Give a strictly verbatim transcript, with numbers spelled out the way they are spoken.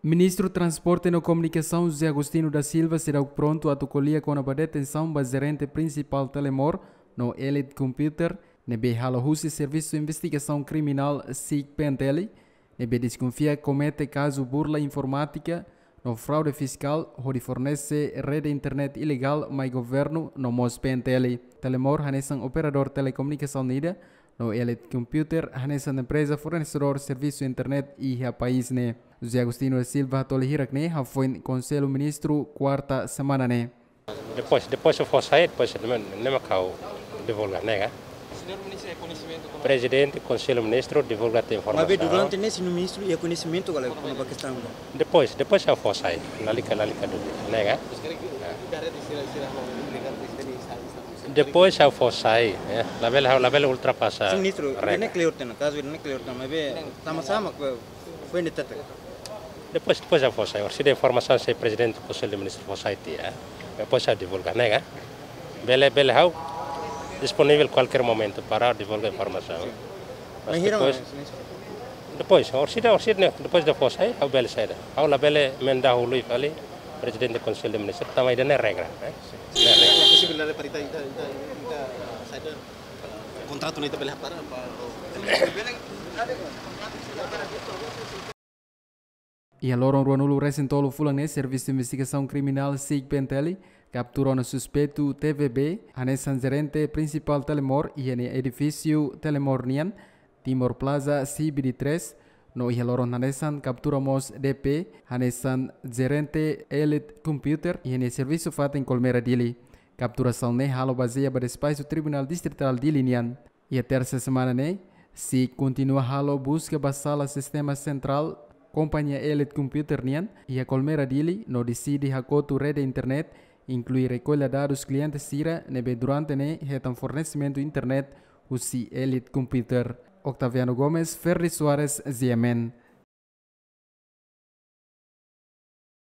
Ministru Transporte no Komunikasaun José Agostinho da Silva seidauk prontu atu ko'alia kona-ba detensaun ba jerente prinsipál Telemor no Elite Computer ne'ebé halo husi Servisu Investigasaun Kriminál, SIC-PNTL, ne'ebé deskonfia komete kazu burla informátika no fraude fiskál hodi fornese rede internet ilegál mai governu no mós PNTL. Telemor hanesan operadór telekomunikasaun ida, no Elite Computer hanesan empreza fornesedór servisu internet iha país ne'e. José Agostinho da Silva hato'o hirak-ne'e hafoin Konsellu Ministru kuarta semana ne'e. Depois, depois se for sair, depois ne'e, ne'e mak ha'u divulga, ne'e ka? Señór Ministru iha koñesimentu kona-ba? Prezidente Konsellu Ministru divulga tiha informasaun. Maibé durante ne'e señór Ministru iha koñesimentu kala kona-ba kestaun ne'e? Depois, depois se for sair, lalika, lalika dúvida, ne'e ka? Maibé durante ne'e señór Ministru iha koñesimentu kona-ba kestaun ne'e? Depois, depois se for sair, lalika dúvida, ne'e ka? Maibé durante ne'e señór Ministru iha koñesimentu kona-ba kestaun ne'e? Depois, depois se for sair, lalika dúvida, ne'e ka? Depois se for sair, eh, labele, labele ultrapasa. Señór Ministru, regra. Ne'e klaru tiha ona, kazu ne'e klaru tiha ona, maibé sama-sama ke foi ne'e tete. Depois, depois se for sair, orsida informasaun se Prezidente Konsellu Ministru for sair tiha, eh. Depois ha'u divulga, ne'e ka? Bele, bele ha'u disponivel kualkér momentu para divulga informasaun. Mas maibé hira depois, mas, Señór Ministru. Depois, orsida, orsida ne'e, depois de for sair, ha'u bele saida. Ha'u labele mendahului fali Prezidente Konsellu Ministru, tanba ida-ne'e regra, eh? Ne'e regra. Posibilidade para ita, ita, ita, ita, saida, kontratu ne'e ita bele hapara, apa? Iha loron ruanulu-resin-tolu fulan ne'e, Servisu Investigasaun Kriminál, SIC-PNTL, kaptura ona suspeitu T V B hanesan jerente prinsipál Telemor iha nia edifísiu Telemor nian, Timor Plaza, C B D três, no iha loron hanesan kaptura mós D P hanesan jerente Elite Computer iha nia servisu fatin Colmera, Dili. Kapturasaun ne'e halo bazeia ba despaxu Tribunál Distritál Dili nian. Iha tersa semana ne'e, SIC kontinua halo buska ba sala sistema sentrál kompañia Elite Computer nian iha Colmera, Dili, no deside hakotu rede internet, inklui rekolla dadus kliente sira ne'ebé durante ne'e hetan fornesimentu internet husi Elite Computer. Octaviano Gomes, Ferdi Soares, G M N.